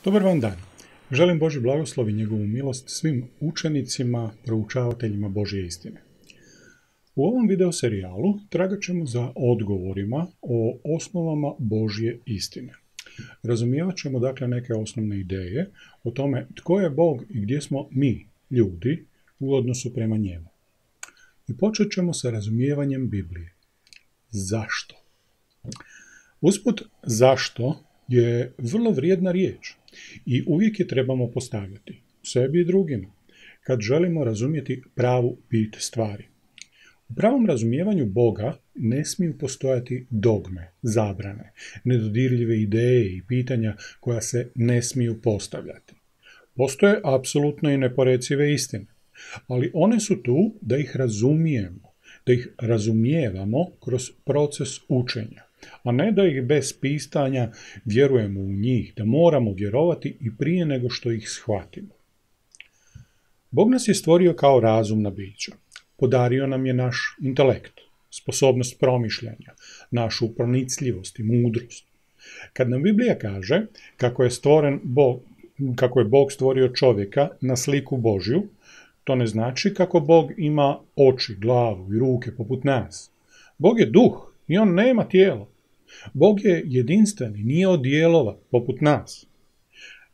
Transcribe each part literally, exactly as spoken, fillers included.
Dobar vam dan. Želim Božji blagoslov i njegovu milost svim učenicima, proučavateljima Božje istine. U ovom video serijalu tragat ćemo za odgovorima o osnovama Božje istine. Razumijevat ćemo dakle neke osnovne ideje o tome tko je Bog i gdje smo mi, ljudi, u odnosu prema njemu. I počet ćemo sa razumijevanjem Biblije. Zašto? Usput, zašto je vrlo vrijedna riječ i uvijek je trebamo postavljati sebi i drugima kad želimo razumjeti pravu bit stvari. U pravom razumijevanju Boga ne smiju postojati dogme, zabrane, nedodirljive ideje i pitanja koja se ne smiju postavljati. Postoje apsolutno i neporecive istine, ali one su tu da ih razumijemo, da ih razumijevamo kroz proces učenja, a ne da ih bez pitanja vjerujemo u njih, da moramo vjerovati i prije nego što ih shvatimo. Bog nas je stvorio kao razumna bića. Podario nam je naš intelekt, sposobnost promišljanja, našu pronicljivost i mudrost. Kad nam Biblija kaže kako je stvoren Bog, kako je Bog stvorio čovjeka na sliku Božju, to ne znači kako Bog ima oči, glavu i ruke poput nas. Bog je duh i on nema tijelo. Bog je jedinstven i nije od dijelova poput nas.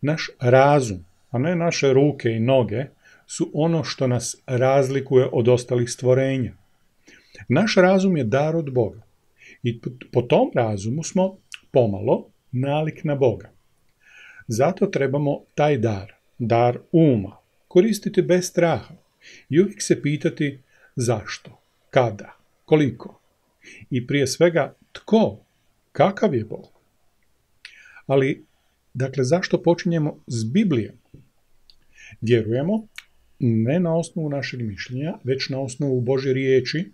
Naš razum, a ne naše ruke i noge, su ono što nas razlikuje od ostalih stvorenja. Naš razum je dar od Boga i po tom razumu smo pomalo nalik na Boga. Zato trebamo taj dar, dar uma, koristiti bez straha i uvijek se pitati zašto, kada, koliko i prije svega tko, kakav je Bog. Ali, dakle, zašto počinjemo s Biblijom? Vjerujemo, ne na osnovu našeg mišljenja, već na osnovu Božje riječi,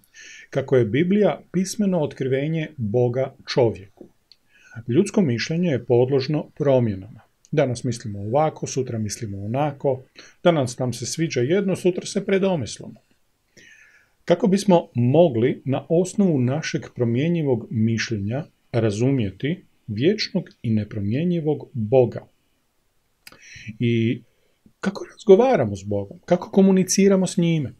kako je Biblija pismeno otkrivenje Boga čovjeku. Ljudsko mišljenje je podložno promjenama. Danas mislimo ovako, sutra mislimo onako, danas nam se sviđa jedno, sutra se predomislimo. Kako bismo mogli na osnovu našeg promjenjivog mišljenja razumjeti vječnog i nepromjenjivog Boga? I kako razgovaramo s Bogom? Kako komuniciramo s njime?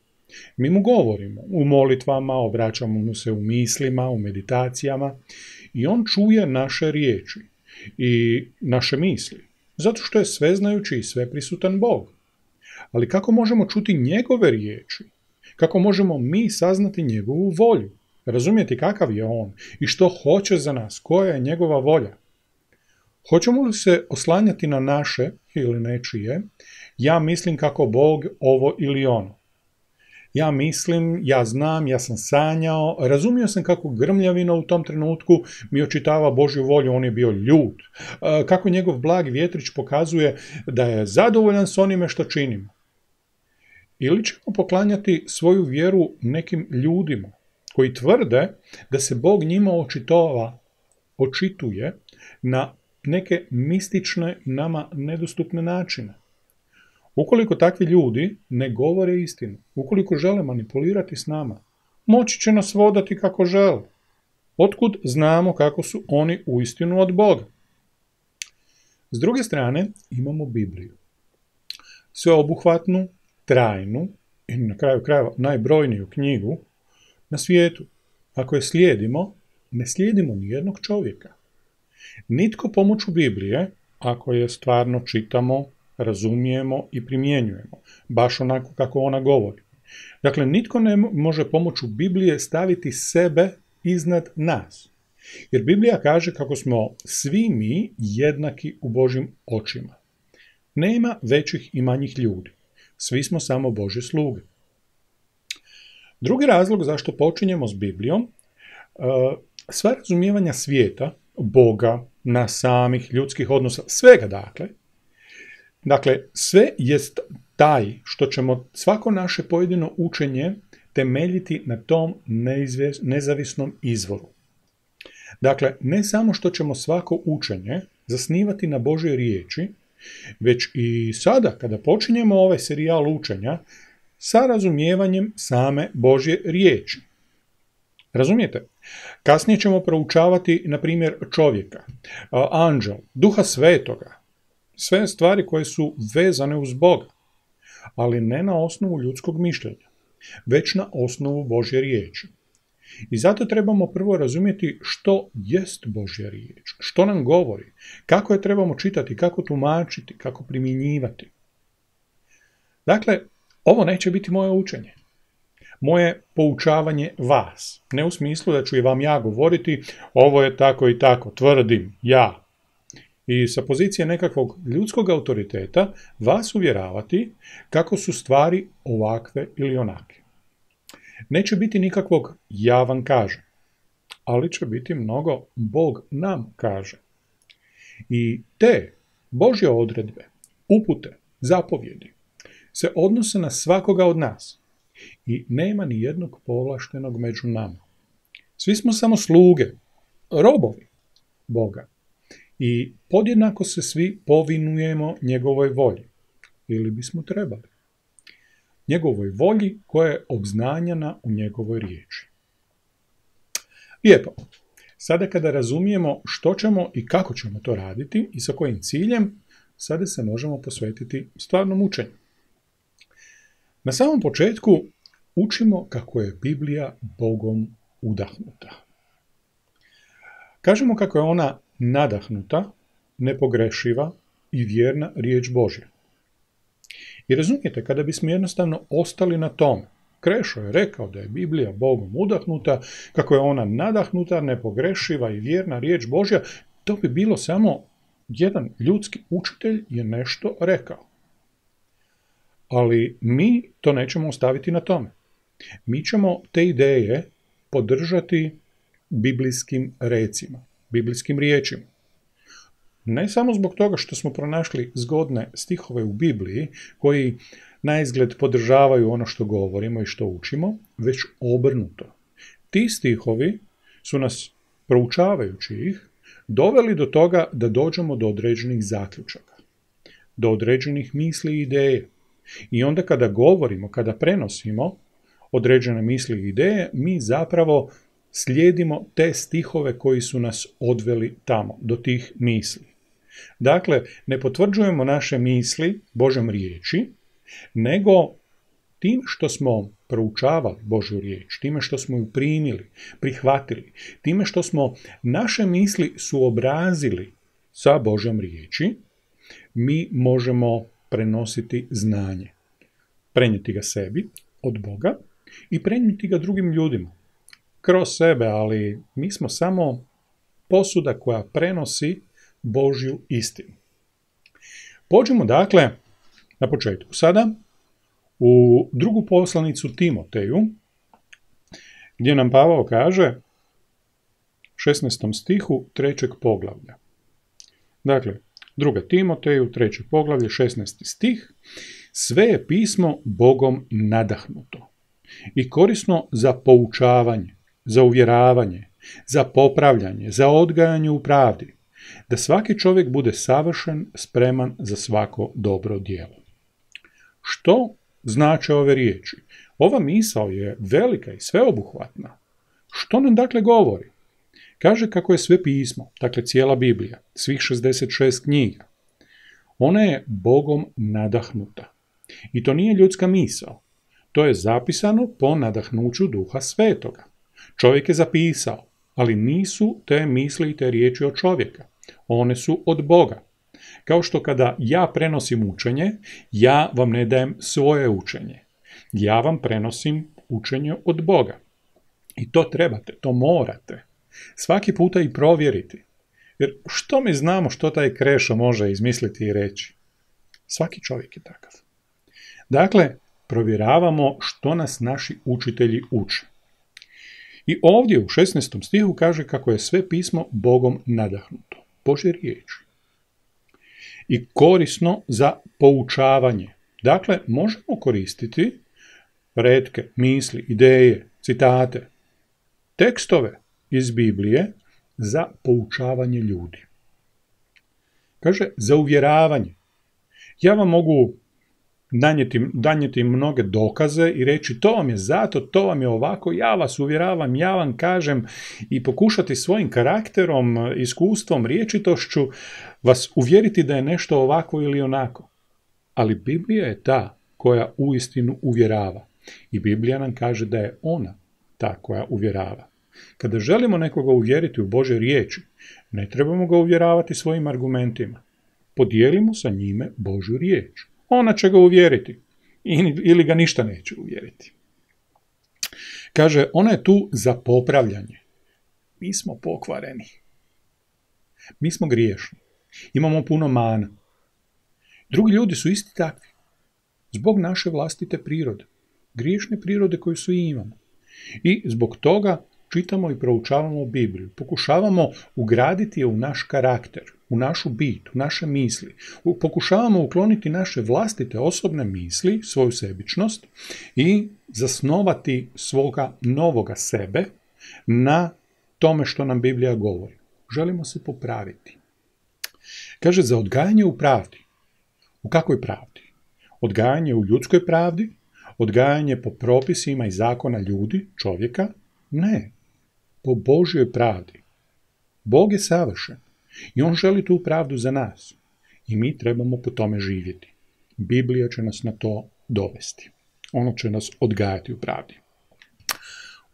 Mi mu govorimo u molitvama, obraćamo mu se u mislima, u meditacijama i on čuje naše riječi i naše misli, zato što je sveznajući i sveprisutan Bog. Ali kako možemo čuti njegove riječi? Kako možemo mi saznati njegovu volju? Razumjeti kakav je on i što hoće za nas, koja je njegova volja? Hoćemo li se oslanjati na naše ili nečije, ja mislim kako Bog ovo ili ono. Ja mislim, ja znam, ja sam sanjao, razumio sam kako grmljavina u tom trenutku mi očitava Božju volju, on je bio ljut. Kako njegov blagi vjetrić pokazuje da je zadovoljan s onime što činimo. Ili ćemo poklanjati svoju vjeru nekim ljudima koji tvrde da se Bog njima očitova, očituje na neke mistične, nama nedostupne načine. Ukoliko takvi ljudi ne govore istinu, ukoliko žele manipulirati s nama, moći će nas vodati kako žele. Otkud znamo kako su oni uistinu od Boga? S druge strane, imamo Bibliju. Sveobuhvatnu, trajnu i na kraju krajeva najbrojniju knjigu na svijetu. Ako je slijedimo, ne slijedimo nijednog čovjeka. Nitko pomoću Biblije, ako je stvarno čitamo, razumijemo i primjenjujemo, baš onako kako ona govori. Dakle, nitko ne može pomoću Biblije staviti sebe iznad nas. Jer Biblija kaže kako smo svi mi jednaki u Božjim očima. Nema većih i manjih ljudi. Svi smo samo Božje sluge. Drugi razlog zašto počinjemo s Biblijom, sva razumijevanja svijeta, Boga, nas samih, ljudskih odnosa, svega dakle, dakle, sve jest taj što ćemo svako naše pojedino učenje temeljiti na tom neizvjes, nezavisnom izvoru. Dakle, ne samo što ćemo svako učenje zasnivati na Božjoj riječi, već i sada kada počinjemo ovaj serijal učenja sa razumijevanjem same Božje riječi. Razumijete? Kasnije ćemo proučavati, na primjer, čovjeka, anđel, duha svetoga, sve stvari koje su vezane uz Boga, ali ne na osnovu ljudskog mišljenja, već na osnovu Božje riječi. I zato trebamo prvo razumjeti što jest Božja riječ, što nam govori, kako je trebamo čitati, kako tumačiti, kako primjenjivati. Dakle, ovo neće biti moje učenje. Moje poučavanje vas. Ne u smislu da ću i vam ja govoriti, ovo je tako i tako, tvrdim ja. I sa pozicije nekakvog ljudskog autoriteta vas uvjeravati kako su stvari ovakve ili onake. Neće biti nikakvog ja vam kažem, ali će biti mnogo Bog nam kaže. I te Božje odredbe, upute, zapovjedi se odnose na svakoga od nas i nema ni jednog povlaštenog među nama. Svi smo samo sluge, robovi Boga i podjednako se svi povinujemo njegovoj volji, ili bismo trebali. Njegovoj volji koja je obznanjena u njegovoj riječi. Lijepo. Sada kada razumijemo što ćemo i kako ćemo to raditi i sa kojim ciljem, sada se možemo posvetiti stvarnom učenju. Na samom početku učimo kako je Biblija Bogom udahnuta. Kažemo kako je ona nadahnuta, nepogrešiva i vjerna riječ Božja. I razumijete, kada bismo jednostavno ostali na tome, Krešo je rekao da je Biblija Bogom udahnuta, kako je ona nadahnuta, nepogrešiva i vjerna riječ Božja, to bi bilo samo jedan ljudski učitelj je nešto rekao. Ali mi to nećemo ostaviti na tome. Mi ćemo te ideje podržati biblijskim recima, biblijskim riječima. Ne samo zbog toga što smo pronašli zgodne stihove u Bibliji koji naizgled podržavaju ono što govorimo i što učimo, već obrnuto. Ti stihovi su nas, proučavajući ih, doveli do toga da dođemo do određenih zaključaka, do određenih misli i ideje. I onda kada govorimo, kada prenosimo određene misli i ideje, mi zapravo slijedimo te stihove koji su nas odveli tamo, do tih misli. Dakle, ne potvrđujemo naše misli Božjom riječi, nego tim što smo proučavali Božju riječ, time što smo ju primili, prihvatili, time što smo naše misli suobrazili sa Božjom riječi, mi možemo prenositi znanje, prenijeti ga sebi od Boga i prenijeti ga drugim ljudima. Kroz sebe, ali mi smo samo posuda koja prenosi Božju istinu. Pođimo dakle na početku sada u drugu poslanicu Timoteju, gdje nam Pavao kaže šesnaestom stihu trećeg poglavlja. Dakle, druga Timoteju, treće poglavlje, šesnaesti stih. Sve je pismo Bogom nadahnuto i korisno za poučavanje, za uvjeravanje, za popravljanje, za odgajanje u pravdi, da svaki čovjek bude savršen, spreman za svako dobro djelo. Što znače ove riječi? Ova misao je velika i sveobuhvatna. Što nam dakle govori? Kaže kako je sve pismo, dakle cijela Biblija, svih šezdeset šest knjiga. Ona je Bogom nadahnuta. I to nije ljudska misao. To je zapisano po nadahnuću Duha Svetoga. Čovjek je zapisao, ali nisu te misli i te riječi od čovjeka. One su od Boga. Kao što kada ja prenosim učenje, ja vam ne dajem svoje učenje. Ja vam prenosim učenje od Boga. I to trebate, to morate. Svaki puta i provjeriti. Jer što mi znamo što taj Krešo može izmisliti i reći? Svaki čovjek je takav. Dakle, provjeravamo što nas naši učitelji uče. I ovdje u šesnaestom stihu kaže kako je sve pismo Bogom nadahnuto. Božje riječi. I korisno za poučavanje. Dakle, možemo koristiti retke, misli, ideje, citate, tekstove iz Biblije za poučavanje ljudi. Kaže, za uvjeravanje. Ja vam mogu danjeti, danjeti mnoge dokaze i reći to vam je zato, to vam je ovako, ja vas uvjeravam, ja vam kažem i pokušati svojim karakterom, iskustvom, riječitošću vas uvjeriti da je nešto ovako ili onako. Ali Biblija je ta koja uistinu uvjerava. I Biblija nam kaže da je ona ta koja uvjerava. Kada želimo nekoga uvjeriti u Božje riječi, ne trebamo ga uvjeravati svojim argumentima. Podijelimo sa njime Božju riječ. Ona će ga uvjeriti. Ili ga ništa neće uvjeriti. Kaže, ona je tu za popravljanje. Mi smo pokvareni. Mi smo griješni. Imamo puno mana. Drugi ljudi su isti takvi. Zbog naše vlastite prirode. Griješne prirode koju svi imamo. I zbog toga čitamo i proučavamo Bibliju. Pokušavamo ugraditi je u naš karakter, u našu bit, u naše misli. Pokušavamo ukloniti naše vlastite osobne misli, svoju sebičnost i zasnovati svoga novoga sebe na tome što nam Biblija govori. Želimo se popraviti. Kaže, za odgajanje u pravdi. U kakvoj pravdi? Odgajanje u ljudskoj pravdi? Odgajanje po propisima i zakona ljudi, čovjeka? Ne. Po Božjoj pravdi. Bog je savršen i on želi tu pravdu za nas. I mi trebamo po tome živjeti. Biblija će nas na to dovesti. Ono će nas odgajati u pravdi.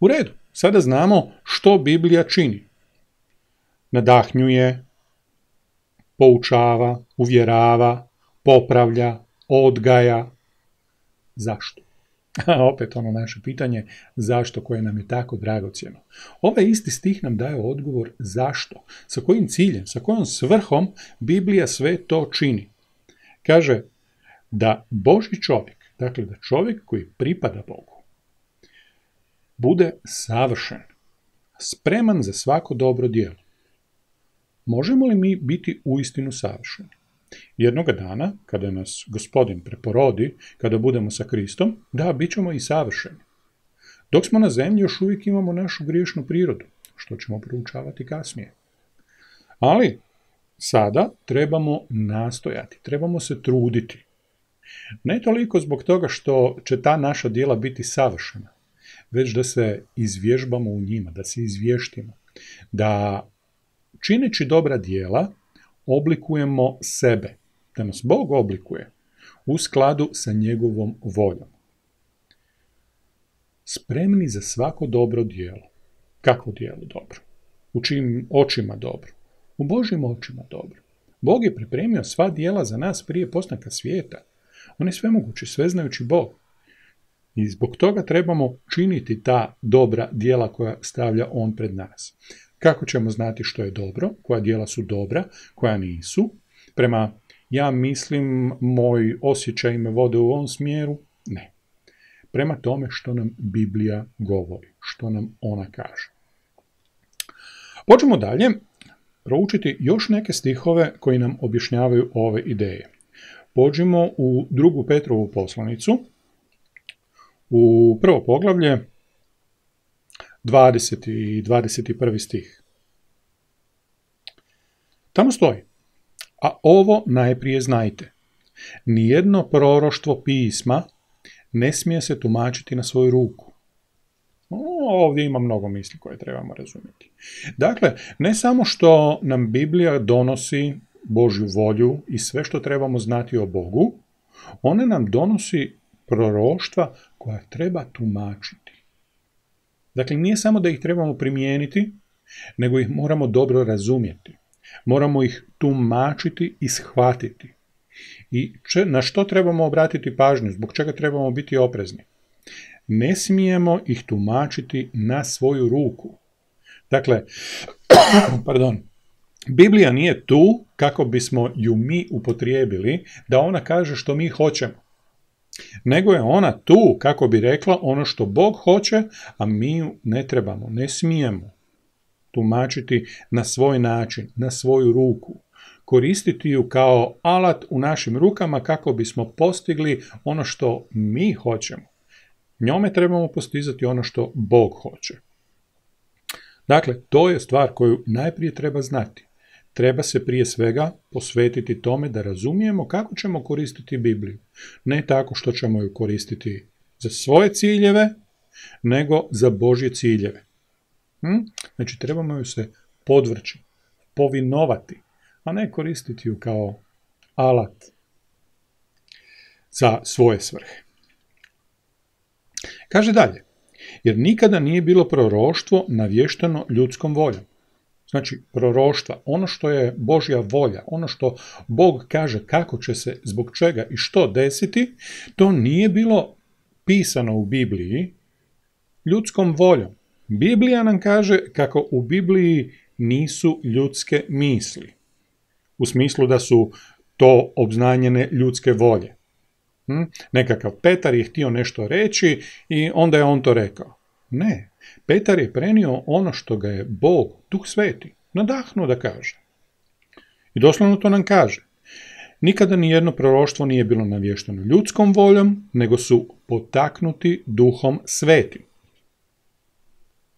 U redu, sada znamo što Biblija čini. Nadahnjuje, poučava, uvjerava, popravlja, odgaja. Zašto? Opet ono naše pitanje, zašto, koje nam je tako dragocjeno. Ovaj isti stih nam daje odgovor zašto, sa kojim ciljem, sa kojom svrhom Biblija sve to čini. Kaže da Božji čovjek, dakle da čovjek koji pripada Bogu, bude savršen, spreman za svako dobro djelo. Možemo li mi biti uistinu savršeni? Jednoga dana, kada nas Gospodin preporodi, kada budemo sa Kristom, da, bit ćemo i savršeni. Dok smo na zemlji, još uvijek imamo našu griješnu prirodu, što ćemo proučavati kasnije. Ali, sada trebamo nastojati, trebamo se truditi. Ne toliko zbog toga što će ta naša djela biti savršena, već da se izvježbamo u njima, da se izvještimo, da čineći dobra djela, oblikujemo sebe, da nas Bog oblikuje u skladu sa njegovom voljom. Spremni za svako dobro djelo. Kakvo djelo dobro? U čijim očima dobro? U Božjim očima dobro. Bog je pripremio sva djela za nas prije postanka svijeta. On je svemogući, sveznajući Bog. I zbog toga trebamo činiti ta dobra djela koja stavlja on pred nas. Kako ćemo znati što je dobro, koja djela su dobra, koja nisu? Prema, ja mislim, moj osjećaj me vode u ovom smjeru? Ne. Prema tome što nam Biblija govori, što nam ona kaže. Počnemo dalje proučiti još neke stihove koji nam objašnjavaju ove ideje. Pođimo u drugu Petrovu poslanicu, u prvo poglavlje, dvadeseti i dvadeset prvi stih. Tamo stoji, a ovo najprije znajte, nijedno proroštvo pisma ne smije se tumačiti na svoju ruku. Ovdje ima mnogo misli koje trebamo razumjeti. Dakle, ne samo što nam Biblija donosi Božju volju i sve što trebamo znati o Bogu, ona nam donosi proroštva koja treba tumačiti. Dakle, nije samo da ih trebamo primijeniti, nego ih moramo dobro razumjeti. Moramo ih tumačiti i shvatiti. I če, na što trebamo obratiti pažnju, zbog čega trebamo biti oprezni? Ne smijemo ih tumačiti na svoju ruku. Dakle, pardon, Biblija nije tu kako bismo ju mi upotrijebili da ona kaže što mi hoćemo. Nego je ona tu kako bi rekla ono što Bog hoće, a mi ju ne trebamo, ne smijemo tumačiti na svoj način, na svoju ruku. Koristiti ju kao alat u našim rukama kako bismo postigli ono što mi hoćemo. Njome trebamo postizati ono što Bog hoće. Dakle, to je stvar koju najprije treba znati. treba se prije svega posvetiti tome da razumijemo kako ćemo koristiti Bibliju. Ne tako što ćemo ju koristiti za svoje ciljeve, nego za Božje ciljeve. Hm? Znači, trebamo ju se podvrći, povinovati, a ne koristiti ju kao alat za svoje svrhe. Kaže dalje, jer nikada nije bilo proroštvo navješteno ljudskom voljom. Znači, proroštva, ono što je Božja volja, ono što Bog kaže kako će se, zbog čega i što desiti, to nije bilo pisano u Bibliji ljudskom voljom. Biblija nam kaže kako u Bibliji nisu ljudske misli, u smislu da su to obznanjene ljudske volje. Hm? Nekakav Petar je htio nešto reći i onda je on to rekao. Ne, Petar je prenio ono što ga je Bog, Duh Sveti, nadahnuo da kaže. I doslovno to nam kaže. Nikada ni jedno proroštvo nije bilo navješteno ljudskom voljom, nego su potaknuti Duhom Svetim.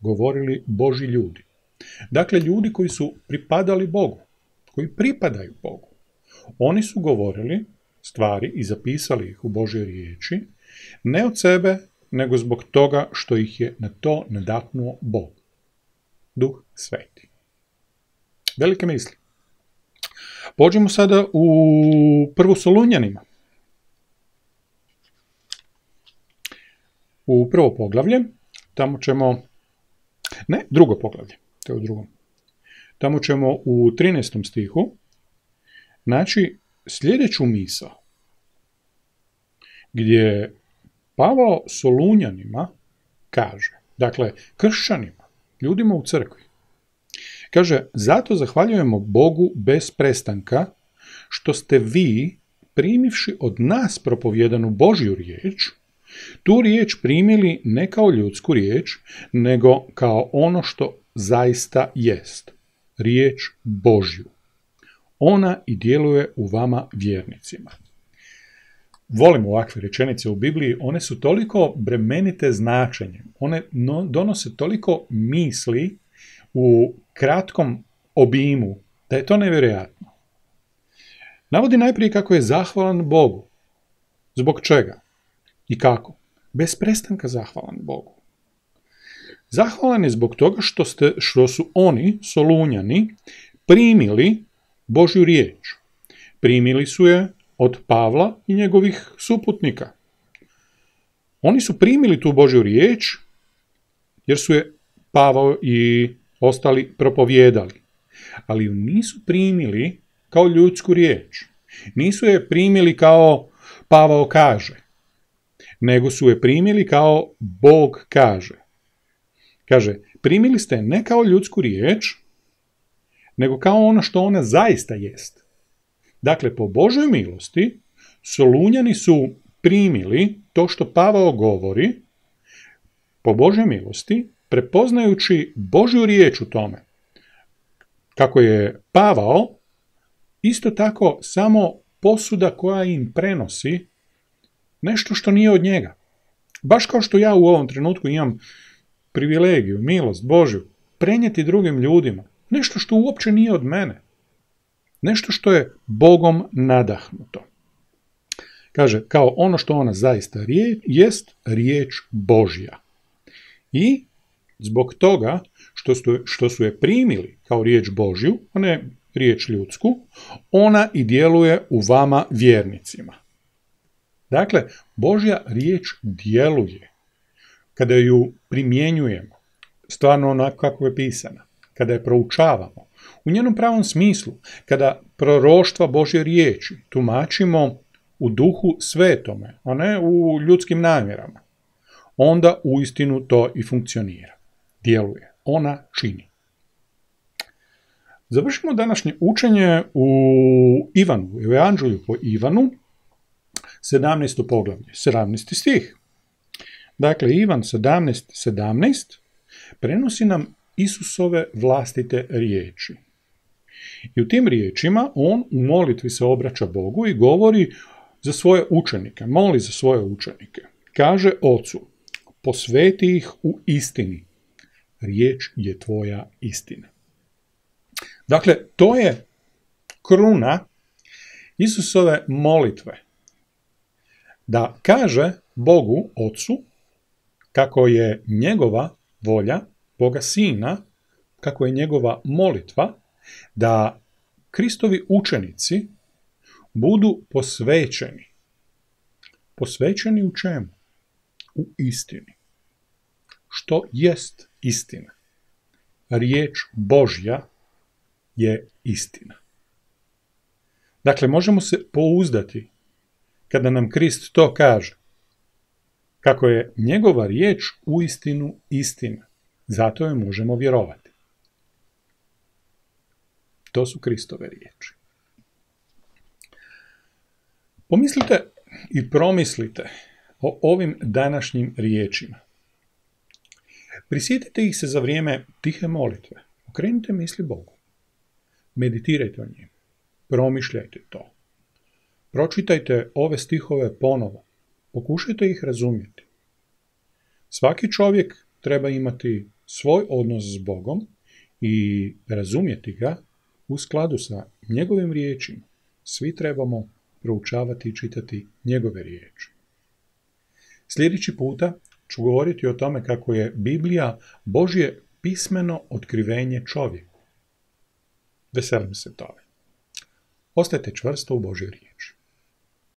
Govorili Božji ljudi. Dakle, ljudi koji su pripadali Bogu, koji pripadaju Bogu. Oni su govorili stvari i zapisali ih u Božjoj riječi, ne od sebe, nego zbog toga što ih je na to nadahnuo Bog, Duh Sveti. Velike misli. Pođemo sada u prvu Solunjanima. U prvo poglavlje, tamo ćemo, ne, drugo poglavlje, to je u drugom. Tamo ćemo u trinaestom stihu naći sljedeću misao, gdje Pavao Solunjanima kaže, dakle, kršćanima, ljudima u crkvi, kaže, zato zahvaljujemo Bogu bez prestanka, što ste vi, primivši od nas propovjedanu Božju riječ, tu riječ primili ne kao ljudsku riječ, nego kao ono što zaista jest, riječ Božju. Ona i djeluje u vama vjernicima. Volim ovakve rečenice u Bibliji, one su toliko bremenite značenjem, one no, donose toliko misli u kratkom obimu, da je to nevjerojatno. Navodi najprije kako je zahvalan Bogu. Zbog čega? I kako? Bez prestanka zahvalan Bogu. Zahvalan je zbog toga što, ste, što su oni, Solunjani, primili Božju riječ. Primili su je od Pavla i njegovih suputnika. Oni su primili tu Božju riječ, jer su je Pavao i ostali propovijedali. Ali ju nisu primili kao ljudsku riječ. Nisu je primili kao Pavao kaže, nego su je primili kao Bog kaže. Kaže, primili ste je ne kao ljudsku riječ, nego kao ono što ona zaista jest. Dakle, po Božoj milosti, Solunjani su primili to što Pavao govori, po Božoj milosti, prepoznajući Božju riječ u tome. Kako je Pavao, isto tako samo posuda koja im prenosi nešto što nije od njega. Baš kao što ja u ovom trenutku imam privilegiju, milost Božju, prenijeti drugim ljudima nešto što uopće nije od mene. Nešto što je Bogom nadahnuto. Kaže, kao ono što ona zaista riječ, jest riječ Božja. I zbog toga što su, što su je primili kao riječ Božju, a ne riječ ljudsku, ona i djeluje u vama vjernicima. Dakle, Božja riječ djeluje. Kada ju primjenjujemo, stvarno onako kako je pisana, kada je proučavamo, u njenom pravom smislu, kada proroštva Božje riječi tumačimo u duhu svetome, a ne u ljudskim namjerama, onda uistinu to i funkcionira. Djeluje. Ona čini. Završimo današnje učenje u Ivanu, u Evanđelju po Ivanu, sedamnaesto poglavlje, sedamnaesti stih. Dakle, Ivan sedamnaest sedamnaest prenosi nam Isusove vlastite riječi. I u tim riječima on u molitvi se obraća Bogu i govori za svoje učenike, moli za svoje učenike. Kaže Ocu, posveti ih u istini. Riječ je tvoja istina. Dakle, to je kruna Isusove molitve. Da kaže Bogu Ocu kako je njegova volja, Boga Sina, kako je njegova molitva, da Kristovi učenici budu posvećeni. Posvećeni u čemu? U istini. Što jest istina? Riječ Božja je istina. Dakle, možemo se pouzdati kada nam Krist to kaže, kako je njegova riječ uistinu istina. Zato joj možemo vjerovati. To su Kristove riječi. Pomislite i promislite o ovim današnjim riječima. Prisjetite ih se za vrijeme tihe molitve. Okrenite misli Bogu. Meditirajte o njim. Promišljajte to. Pročitajte ove stihove ponovo. Pokušajte ih razumjeti. Svaki čovjek treba imati svoj odnos s Bogom i razumjeti ga u skladu sa njegovim riječima. Svi trebamo proučavati i čitati njegove riječi. Sljedeći puta ću govoriti o tome kako je Biblija Božje pismeno otkrivenje čovjeku. Veselim se tome. Ostajte čvrsto u Božjoj riječi.